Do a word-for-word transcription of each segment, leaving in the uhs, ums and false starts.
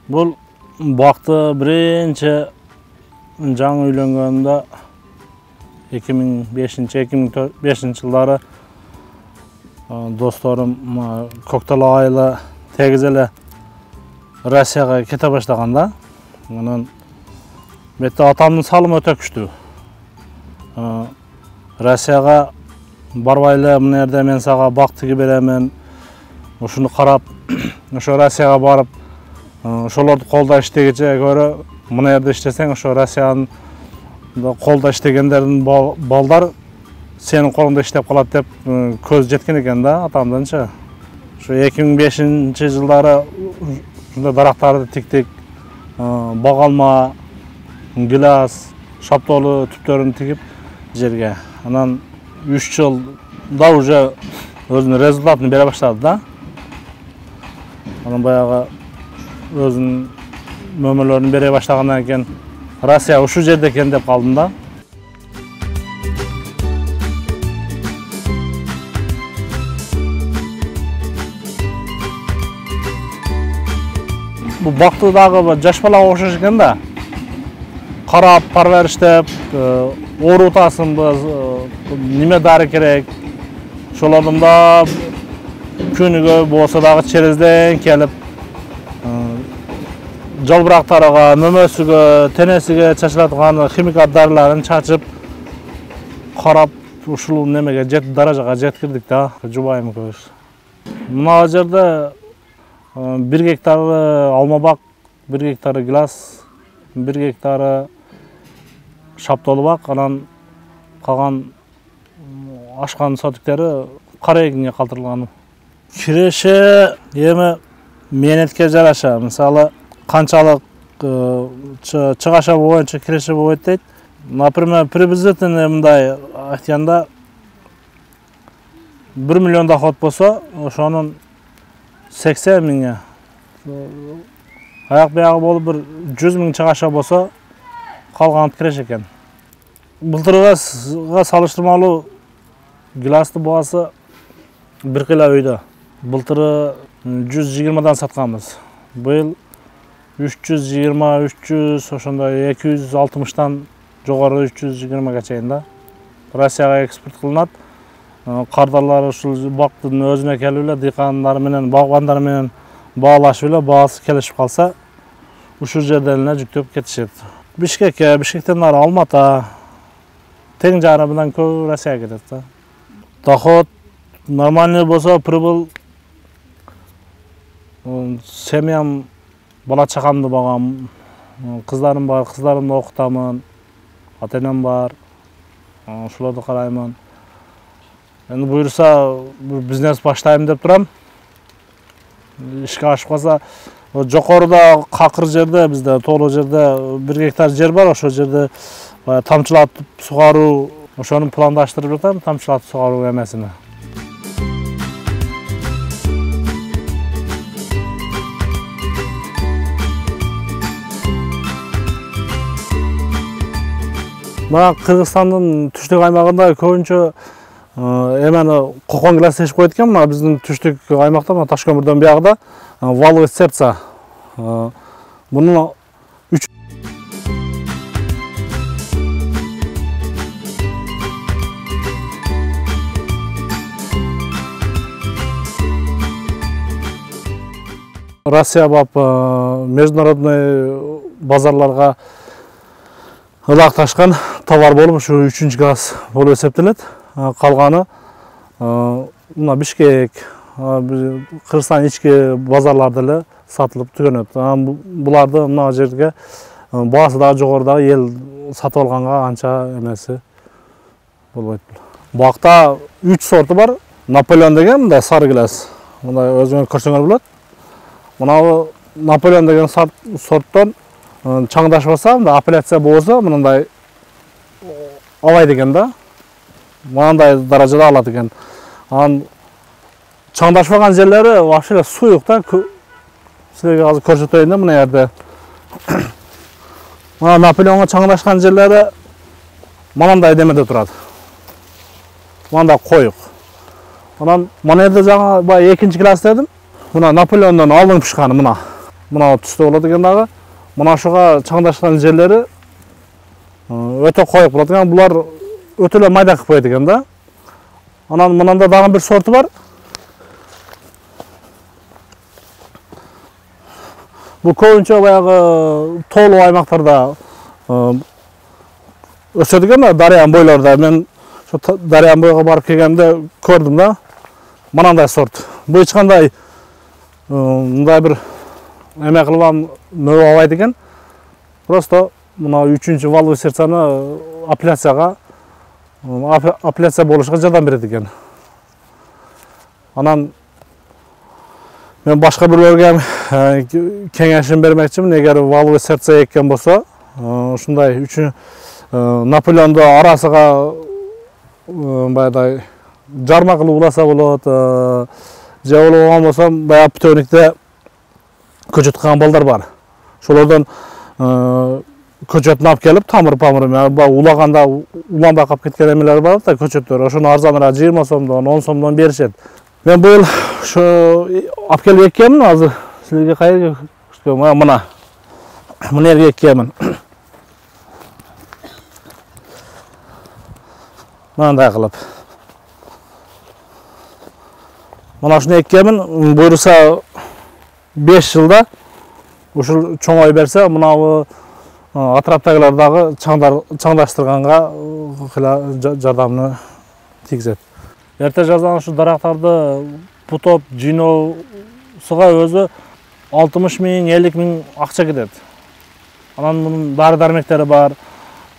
Бул бакты биринчи жаңы үйлөнгөндө эки миң бешинчи эки миң бешинчи жылдары досторум Көктал айылы тегиз эле Россияга кете баштаганда, анан бетте атамдын салымы өтө күчтүү. Россияга барбай эле мына жерде мен сага бак тиги беремин, ушуну карап, ошо Россияга барып, ошолорду колдо иштегече көрө мына жерде иштесең, ошо Россиянын колдо иштегендердин балдар сенин колуңда иштеп калат деп көз жеткен экен да атамдынчы. Ошо эки миң бешинчи жылдары ушундай дарактарды тиктик, багалма, гилас, шаптоолу түптөрүн тигип жерге. Анан үч жылда уже өзүнүн результатын бере баштады да. Анан баягы өзүнүн мөмөлөрүн бере баштагандан кийин Россия ушул жерде экен деп калдым да. Бул бакты дагы жаш балага окшош экен да. Карап, парвариштеп, оорутасыңбыз, неме дары керек. Ошолордун да күнүгө болсо дагы черезден келип, жалбырактарга, мөмөсүгө, тенесиге чачылаткан химикат дарыларын чачып, карап, ушул немеге жет даражага жеткирдик да, жубайым көз. Мына жерде бир гектары алма бак, бир гектары гилас, бир гектары шаптоолу бак, анан калган ашкан сотиктери кара эгинге калтырылган. Киреше эми мээнетке жараша, мисалы канчалык чыгаша боюнча киреше болот дейт. Например, приблизительно мындай айтканда бир миллион доход болсо, ошонун сексен миңи аяк биягы болуп бир жүз миң чыгаша болсо, калганы киреше экен. Былтырга салыштырмалуу гиластын баасы бир кыйла өйдө. Былтыры жүз жыйырмадан сатканбыз. Быйыл үч жүз жыйырма, үч жүз, ошондой эки жүз алтымыштан жогору үч жүз жыйырмага чейин да. Россияга экспорт кылынат. Кардарлар ушул бактын өзүнө келип эле дыйкандар менен, багбандар менен баалашып эле, баасы келишип калса, ушул жерден эле жүктөп кетишет. Бишкекке, Бишкектен ары Алмата, тең жары менен көп Россияга кетет да. Доход нормальный болсо, прибыль семьям, бала чакамды багам, кыздарым бар, кыздарымды окутамын, ата-энем бар, ошолорду караймын. Эми буюрса бизнес баштайм деп турам. Ишке ашып калса, жокоруда какыр жерде, бизде тоолуу жерде бир гектар жер бар, ошол жерде тамчылатып сугаруу, ошону пландаштырып жатам, тамчылатып сугаруу эмесини. Мына Кыргызстандын түштүк аймагында көбүнчө эмени кокон гилас ешип коет экен. Мына биздин түштүк аймакта, мына Ташкөмүрдөн биягыда валовый сердце. Муну үч Россия бап международный базарларга ылакташкан товар болуп, ушу үчүнчү класс болуп эсептелет. Калганы мына Бишкек, Кыргызстан ички базарларда эле сатылып түгөнөт. Буларды мына жерге баасы дагы жогорудагы эл сатып алганга анча эмеси болбойт. Бакта үч сорту бар. Наполеон деген мындай сары гилас. Мындай өзүңөр көрсөңөр болот. Мына Наполеон деген сорттон чаңдашпаса, мындай апелляция болсо, мындай алайт экен да. Мындай даражада алат экен. Анан чаңдашпаган жерлери вообще эле суюк да. Силерге азыр көрсөтөйүн да мына жерде. Мына Наполеонго чаңдашкан жерлери мындай демеде турат. Мындай коюк. Анан мына жерде жаңы баягы экинчи класс дедим. Мына Наполеондон алдың пышканы мына. мына түстө болот экен дагы. Мына ушуга чаңдашкан жерлери өтө коюк болот экен. Булар өтө эле майда кылып коет экен да. Анан мынанда дагы бир сорту бар. Бул көбүнчө баягы тоолуу аймактарда өсөт экен да, дарыянын бойлорунда. Мен ошо дарыянын бойго барып келгенде көрдүм да. Мынандай сорт. Бул эч кандай мындай бир эме кылган мөбө албайт экен. Просто мына үчүнчү валовый сердцаны апелляцияга апелляция болушуга жардам берет экен. Анан мен башка бирлерге кеңешим бермекчимин, эгер валовый сердце эккен болсо, ушундай үчүн Наполеондо арасыга баягыдай жарма кылып уласа болот. Же болбогон болсо баягы птөвникте көчөт кылган балдар бар. Ошолордон көчөтүн алып келип, тамыр-памыр менен улаганда уланбай калып кеткен эмелер бар да, көчөттөр. Ошону арзаныраак жыйырма сомдон, он сомдон беришет. Мен быйыл ошо алып келип эккенмин, азыр силерге кайерге мына мына жерге эккенмин. Мындай кылып. Мына ушуну эккенмин, буюрса беш жылда ушул чоңой берсе, мына атраптагылар дагы чаңдаштырганга жардамын тийгизет. Эрте жаздан ушу дарактарды бутоп жыйноосуга өзү алтымыш миң, элүү миң акча кетет. Анан мунун дары дармектери бар.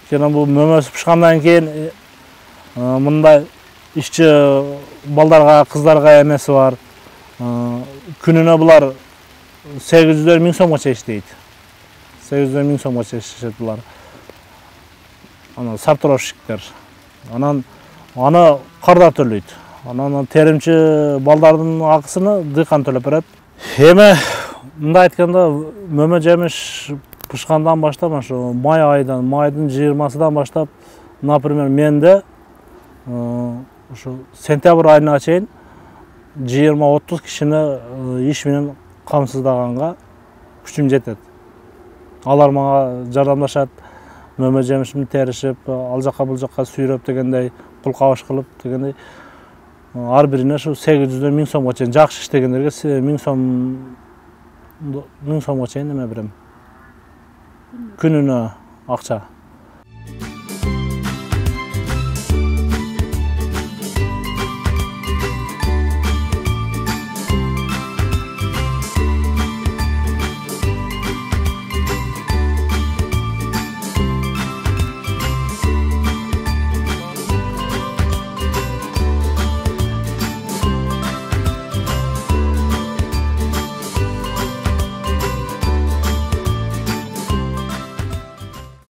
Кene бул мөмөсү пышкандан кийин мындай ишчи балдарга, кыздарга эмеси бар. Күнүнө булар сегиз жүздөр миң сомго чейин иштейт. сегиз жүздөр миң сомго чейин иштешет булар. Ана сортировщиктер. Анан аны карда төлөйт. Анан теримчи балдардын акысыны дыйкан төлөп берет. Эми мындай айтканда, мөмө жемиш пышкандан баштап, ошо май айынан, майдын жыйырмасынан баштап, например, менде ошо сентябрь айына чейин жыйырма отуз кишини иш менен камсыздаганга күчүм жетет. Алар мага жардамдашат, мөмө жемишимди теришип, ал жакка бул жакка сүйрөп дегендей, кул кабыш кылып дегендей. Ар бирине ушу сегиз жүздөр миң сомго чейин, жакшы иштегендерге миң сом миң сомго чейин эме берем. Күнүнө акча.